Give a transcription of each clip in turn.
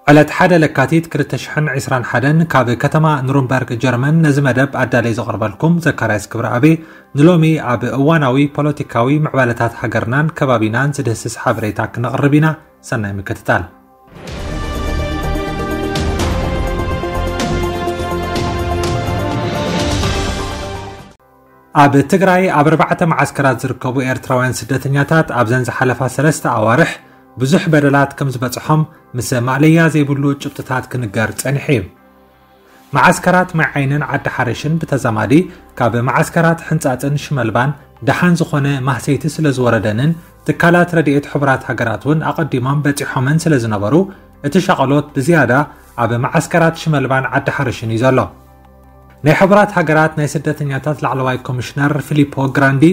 ዕለት ሓደ ለካቲት ክልተ ሽሕን ዕስራን ሓደን ካብ ከተማ ኑርንበርግ ጀርመን ነዚ መደብ ኣዳለይ ዘቕርበልኩም ዘካርያስ ክብረኣብ። ንሎሚ ኣብ እዋናዊ ፖለቲካዊ ምዕባለታት ሃገርናን ከባቢናን ዝድህስስ ሓበሬታ ክነቕርብ ኢና። ሰናይ ምክትታል። ኣብ ትግራይ ኣብ ኣርባዕተ መዓስከራት ዝርከቡ ኤርትራውያን ስደተኛታት ኣብዘን ዝሓለፋ ሰለስተ ኣዋርሕ ብዙሕ በደላት ከም ዝበጽሖም ምስ ማእለያ ዘይብሉ ጭብጥታት ክንገር ጸኒሑ እዩ። መዓስከራት ማይ ዓይንን ዓዲ ሓርሽን ብተዛማዲ ካብ መዓስከራት ሕንጻጽን ሽመልባን ደሓን ዝኾነ ማህሰይቲ ስለ ዝወረደንን ትካላት ረድኤት ሕቡራት ሃገራት እውን ኣቐዲሞም በጺሖመን ስለ ዝነበሩ እቲ ሻቐሎት ብዝያዳ ኣብ መዓስከራት ሽመልባን ዓዲ ሓርሽን እዩ ዘሎ። ናይ ሕቡራት ሃገራት ናይ ስደተኛታት ላዕለዋይ ኮሚሽነር ፊሊፖ ግራንዲ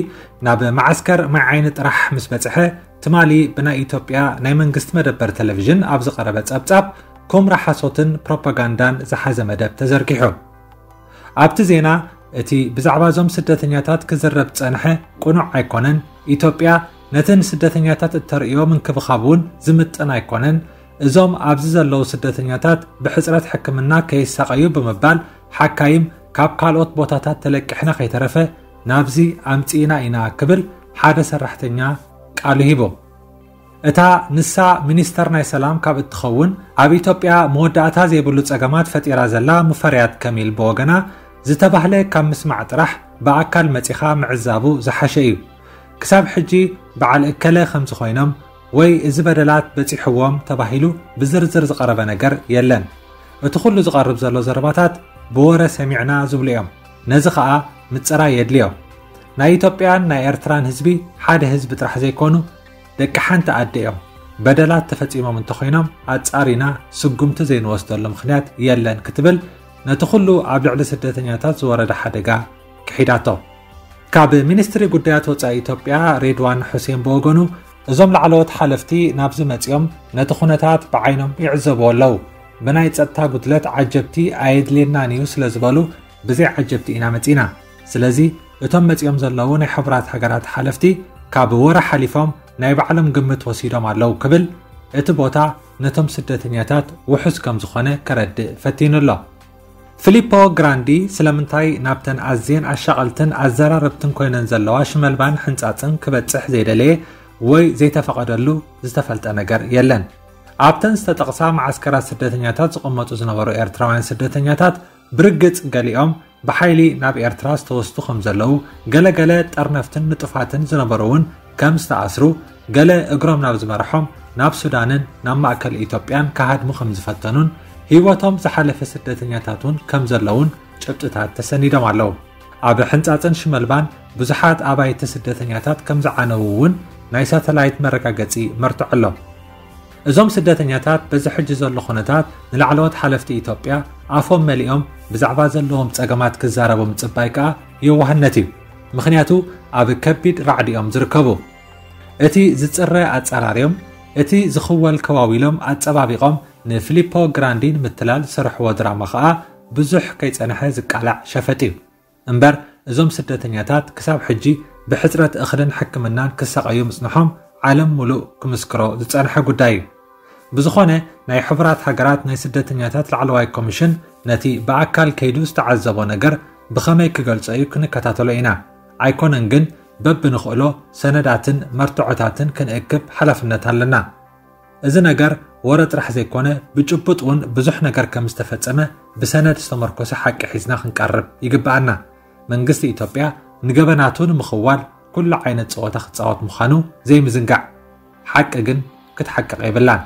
ናብ መዓስከር ማይ ዓይኒ ጥራሕ ምስ በጽሐ ትማሊ ብናይ ኢትዮጵያ ናይ መንግስቲ መደበር ቴሌቪዥን ኣብ ዝቐረበ ጸብጻብ ኩምራ ሓሶትን ፕሮፓጋንዳን ዝሓዘ መደብ ተዘርጊሑ። ኣብቲ ዜና እቲ ብዛዕባ እዞም ስደተኛታት ክዝረብ ጸንሐ ቅኑዕ ኣይኮነን፣ ኢትዮጵያ ነቲ ንስደተኛታት እተርእዮ ምንክብኻብ እውን ዝምጥን ኣይኮነን፣ እዞም ኣብዚ ዘለዉ ስደተኛታት ብሕጽረት ሕክምና ከይሳቐዩ ብምባል ሓካይም ካብ ካልኦት ቦታታት ተለቂሕና ከይተረፈ ናብዚ ኣምጺእና ኢና ክብል ሓደ ሰራሕተኛ ቃሉ ሂቡ። እታ ንሳ ሚኒስተር ናይ ሰላም ካብ እትኸውን ኣብ ኢትዮጵያ መወዳእታ ዘይብሉ ጸገማት ፈጢራ ዘላ ሙፈሪያት ከሚል ብወገና ዝተባህለ ካብ ምስማዕ ጥራሕ ብኣካል መጺኻ ምዕዛቡ ዝሓሸ እዩ። ክሳብ ሕጂ በዓል እከለ ከምዚ ኮይኖም ወይ እዚ በደላት በጺሕዎም ተባሂሉ ብዝርዝር ዝቐረበ ነገር የለን። እቲ ኩሉ ዝቐርብ ዘሎ ዘረባታት ብወረ ሰሚዕና ዝብሉ እዮም። ነዚ ኸኣ ምጽራይ የድልዮ። ናይ ኢትዮጵያን ናይ ኤርትራን ህዝቢ ሓደ ህዝቢ ጥራሕ ዘይኮኑ ደቂ ሓንቲ ኣደ እዮም። በደላት ተፈጺሞም እንተኾይኖም ኣጻሪና ስጉምቲ ዘይንወስደሉ ምኽንያት የለን ክትብል ነቲ ኩሉ ኣብ ልዕሊ ስደተኛታት ዝወረደ ሓደጋ ክሒዳቶ። ካብ ሚኒስትሪ ጉዳያት ወጻኢ ኢትዮጵያ ሬድዋን ሑሴን ብወገኑ እዞም ላዕለዎት ሓለፍቲ ናብዚ መጺኦም ነቲ ኩነታት ብዓይኖም ይዕዘብዎ ኣለዉ። ብናይ ጸጥታ ጉድለት ዓጀብቲ ኣየድልየናን እዩ ስለ ዝበሉ ብዘይ ዓጀብቲ ኢና መጺና። ስለዚ እቶም መጺኦም ዘለዉ ናይ ሕቡራት ሃገራት ሓለፍቲ ካብ ወረ ሓሊፎም ናይ ባዕሎም ግምት ወሲዶም ኣለዉ ክብል እቲ ቦታ ነቶም ስደተኛታት ውሑስ ከም ዝኾነ ከረድእ ፈቲኑ ኣሎ። ፊሊፖ ግራንዲ ስለምንታይ ናብተን ኣዝየን ኣሻቐልትን ኣዘራረብትን ኮይነን ዘለዋ ሽመልባን ሕንጻጽን ክበጽሕ ዘይደለየ ወይ ዘይተፈቐደሉ ዝተፈልጠ ነገር የለን። ኣብተን ዝተጠቕሳ መዓስከራት ስደተኛታት ዝቕመጡ ዝነበሩ ኤርትራውያን ስደተኛታት ብርግጽ ገሊኦም ብሓይሊ ናብ ኤርትራ ዝተወስዱ ከም ዘለዉ፣ ገለገለ ጠርነፍትን ንጡፋትን ዝነበሩ እውን ከም ዝተኣስሩ፣ ገለ እግሮም ናብ ዝመርሖም ናብ ሱዳንን ናብ ማእከል ኢትዮጵያን ክሃድሙ ከም ዝፈተኑን ህይወቶም ዝሓለፈ ስደተኛታት እውን ከም ዘለዉን ጭብጥታት ተሰኒዶም ኣለዉ። ኣብ ሕንጻጽን ሽመልባን ብዙሓት ኣባይቲ ስደተኛታት ከም ዝዓነዉ እውን ናይ ሳተላይት መረጋገጺ መርትዖ ኣሎ። እዞም ስደተኛታት በዚ ሕጂ ዘሎ ኩነታት ንላዕለዎት ሓለፍቲ ኢትዮጵያ ኣፎም መሊኦም ብዛዕባ ዘለዎም ጸገማት ክዛረቡ ምጽባይ ከኣ የዋህነት እዩ። ምኽንያቱ ኣብ ከቢድ ራዕዲ እዮም ዝርከቡ። እቲ ዝጽረ ኣጸራርዮም፣ እቲ ዝኽወል ከዋዊሎም ኣጸባቢቖም ንፊሊፖ ግራንዲ ንምትላል ዝሰርሕዎ ድራማ ከኣ ብዙሕ ከይጸንሐ ዝቃላዕ ሸፈጥ እዩ። እምበር እዞም ስደተኛታት ክሳብ ሕጂ ብሕጽረት እኽልን ሕክምናን ክሳቐዩ ምጽንሖም ዓለም ሙሉእ ክምስክሮ ዝጸንሐ ጉዳይ እዩ። ብዝኾነ ናይ ሕቡራት ሃገራት ናይ ስደተኛታት ላዕለዋይ ኮሚሽን ነቲ ብኣካል ከይዱ ዝተዓዘቦ ነገር ብኸመይ ክገልጾ እዩ ክንከታተሎ ኢና። ኣይኮነን ግን በብንኽእሎ ሰነዳትን መርትዖታትን ክንእክብ ሓላፍነት ኣለና። እዚ ነገር ወረ ጥራሕ ዘይኮነ ብጭቡጥ እውን ብዙሕ ነገር ከም ዝተፈጸመ ብሰነድ ዝተመርኮሰ ሓቂ ሒዝና ክንቀርብ ይግብኣና። መንግስቲ ኢትዮጵያ ንገበናቱ ንምኽዋል ኩሉ ዓይነት ጸወታ ክጻወት ምዃኑ ዘይምዝንጋዕ። ሓቂ ግን ክትሓቅቕ የብላን።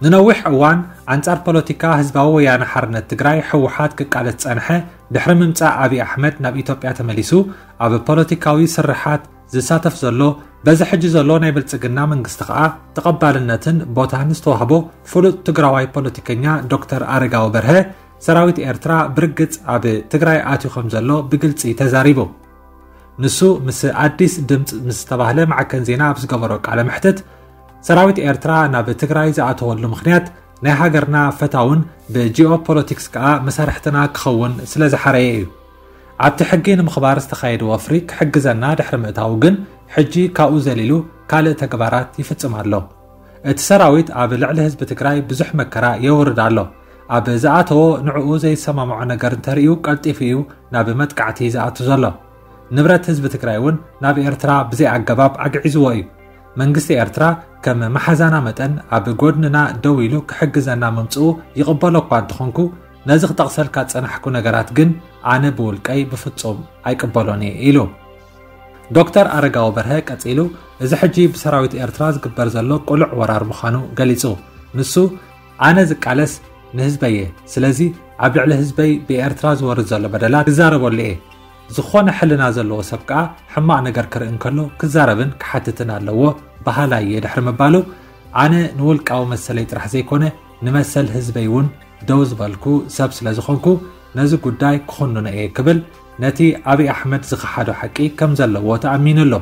ንነዊሕ እዋን ኣንጻር ፖለቲካ ህዝባዊ ወያነ ሓርነት ትግራይ ህወሓት ክቃለስ ጸንሐ ድሕሪ ምምጻእ ኣብይ ኣሕመድ ናብ ኢትዮጵያ ተመሊሱ ኣብ ፖለቲካዊ ስርሓት ዝሳተፍ ዘሎ በዚ ሕጂ ዘሎ ናይ ብልጽግና መንግስቲ ከኣ ተቐባልነትን ቦታን ዝተዋህቦ ፍሉጥ ትግራዋይ ፖለቲከኛ ዶክተር ኣረጋዊ በርሀ ሰራዊት ኤርትራ ብርግጽ ኣብ ትግራይ ኣትዩ ከም ዘሎ ብግልጺ ተዛሪቡ። ንሱ ምስ ኣዲስ ድምጽ ምስ ዝተባህለ ማዕከን ዜና ኣብ ዝገበሮ ቃለ መሕትት ሰራዊት ኤርትራ ናብ ትግራይ ዝኣተወሉ ምኽንያት ናይ ሃገርና ፈታውን ብጂኦፖለቲክስ ከኣ መሳርሕትና ክኸውን ስለ ዝሓረየ እዩ። ኣብቲ ሕጊ ንምኽባር ዝተኻየደ ወፍሪ ክሕግዘና ድሕሪ ምእታዉ ግን፣ ሕጂ ካብኡ ዘሊሉ ካልእ ተግባራት ይፍጽም ኣሎ። እቲ ሰራዊት ኣብ ልዕሊ ህዝቢ ትግራይ ብዙሕ መከራ የውርድ ኣሎ። ኣብ ዝኣተዎ ንዕኡ ዘይሰማምዖ ነገር እንተርእዩ ቀልጢፉ እዩ ናብ መጥቃዕቲ ዝኣቱ ዘሎ። ንብረት ህዝቢ ትግራይ እውን ናብ ኤርትራ ብዘይ ኣገባብ ኣግዒዝዎ እዩ። መንግስቲ ኤርትራ ከም መሓዛና መጠን ኣብ ጎድንና ደው ኢሉ ክሕግዘና ምምጽኡ ይቕበሎ እኳ እንተኾንኩ፣ ነዚ ክጠቕሰልካ ዝጸናሕኩ ነገራት ግን ኣነ ብውልቀይ ብፍጹም ኣይቅበሎን እየ ኢሉ። ዶክተር ኣረጋዊ በርሀ ቀጺሉ፣ እዚ ሕጂ ብሰራዊት ኤርትራ ዝግበር ዘሎ ቅሉዕ ወራር ምዃኑ ገሊጹ። ንሱ፣ ኣነ ዝቃለስ ንህዝበይ እየ። ስለዚ ኣብ ልዕሊ ህዝበይ ብኤርትራ ዝወርድ ዘሎ በደላት ክዛረበሉ እየ። ዝኾነ ሕልና ዘለዎ ሰብ ከኣ ሕማቕ ነገር ክርኢ እንከሎ ክዛረብን ክሓትትን ኣለዎ በሃላይ እየ ድሕሪ ምባሉ፣ ኣነ ንውልቃዊ መሰለይ ጥራሕ ዘይኮነ ንመሰል ህዝበይ እውን ደው ዝበልኩ ሰብ ስለ ዝኾንኩ ነዚ ጉዳይ ክኹንኖ እየ ክብል ነቲ ኣብይ ኣሕመድ ዝኸሓዶ ሓቂ ከም ዘለዎ ተኣሚኑ ኣሎ።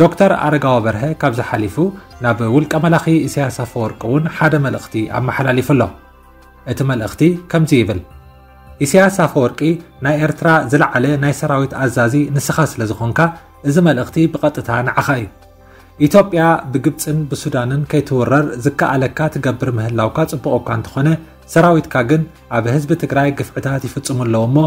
ዶክተር ኣረጋዊ በርሀ ካብዚ ሓሊፉ ናብ ውልቀ መላኺ ኢሳያስ ኣፈወርቂ እውን ሓደ መልእኽቲ ኣመሓላሊፉ ኣሎ። እቲ መልእኽቲ ከምዚ ይብል። ኢሳያስ ኣፈወርቂ ናይ ኤርትራ ዝለዓለ ናይ ሰራዊት ኣዛዚ ንስኻ ስለ ዝኾንካ፣ እዚ መልእኽቲ ብቐጥታ ንዓኻ እዩ። ኢትዮጵያ ብግብጽን ብሱዳንን ከይትውረር ዝከኣለካ ትገብር ምህላውካ ጽቡቕ እኳ እንተኾነ፣ ሰራዊትካ ግን ኣብ ህዝቢ ትግራይ ግፍዕታት ይፍጽሙ ኣለዉ እሞ፣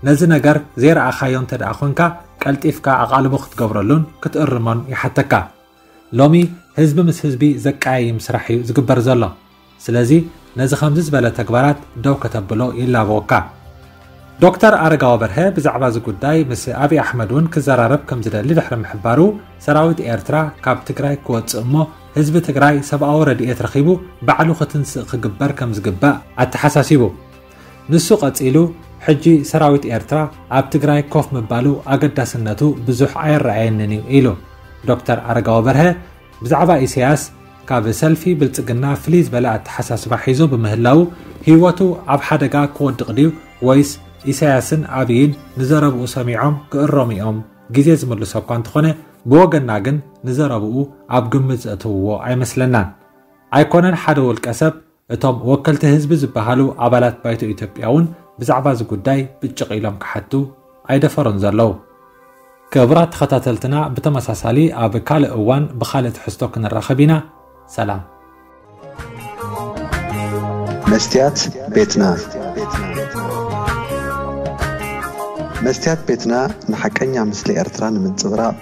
ነዚ ነገር ዘይረኣኻዮ እንተ ደኣ ኾንካ፣ ቀልጢፍካ ኣቓልቦ ክትገብረሉን ክትእርሞን ይሓተካ። ሎሚ ህዝቢ ምስ ህዝቢ ዘቀያይም ስራሕ እዩ ዝግበር ዘሎ። ስለዚ ነዚ ከምዚ ዝበለ ተግባራት ደው ከተብሎ ይላበወካ። ዶክተር ኣረጋዊ በርሀ ብዛዕባ እዚ ጉዳይ ምስ ኣብይ ኣሕመድ እውን ክዘራረብ ከም ዝደሊ ድሕሪ ምሕባሩ፣ ሰራዊት ኤርትራ ካብ ትግራይ ክወጽእ እሞ ህዝቢ ትግራይ ሰብኣዊ ረድኤት ረኺቡ ባዕሉ ክትንስእ ክግበር ከም ዝግባእ ኣተሓሳሲቡ። ንሱ ቀጺሉ፣ ሕጂ ሰራዊት ኤርትራ ኣብ ትግራይ ኮፍ ምባሉ ኣገዳስነቱ ብዙሕ ኣይረኣየንን እዩ ኢሉ። ዶክተር ኣረጋዊ በርሀ ብዛዕባ ኢሳያስ ካብ ሰልፊ ብልጽግና ፍልይ ዝበለ ኣተሓሳስባ ሒዙ ብምህላዉ ህይወቱ ኣብ ሓደጋ ክወድቕ ድዩ ወይስ ኢሳያስን ኣብይን ንዘረብኡ ሰሚዖም ክእረሙ እዮም? ግዜ ዝምልሶ እኳ እንተኾነ ብወገንና ግን ንዘረብኡ ኣብ ግምት ዘእተውዎ ኣይመስለናን። ኣይኮነን ሓደ ውልቀ ሰብ፣ እቶም ወከልቲ ህዝቢ ዝበሃሉ ኣባላት ባይቶ ኢትዮጵያ እውን ብዛዕባ እዚ ጉዳይ ብጭቕ ኢሎም ክሓቱ ኣይደፈሩን ዘለዉ። ክቡራት ተኸታተልትና፣ ብተመሳሳሊ ኣብ ካልእ እዋን ብኻልእ ትሕዝቶ ክንራኸብ ኢና። ሰላም። መስትያት ቤትና። መስትያት ቤትና ንሓቀኛ ምስሊ ኤርትራ ንምንጽብራቕ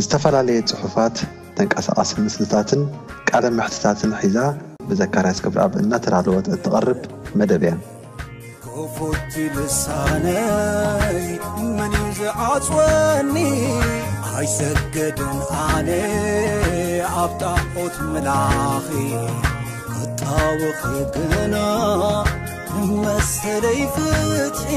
ዝተፈላለየ ጽሑፋት፣ ተንቀሳቓሲ ምስልታትን ቃለ መሕትታትን ሒዛ ብዘካርያስ ገብረኣብ እናተዳለወት እትቐርብ መደብ እያ። ክፉት ልሳነይ መን እዩ ዝዓጽወኒ? ኣይሰገድን ኣነ ኣብ ጣዖት ምላኺ ክጣወኺ ግና መሰለይ ፍትሒ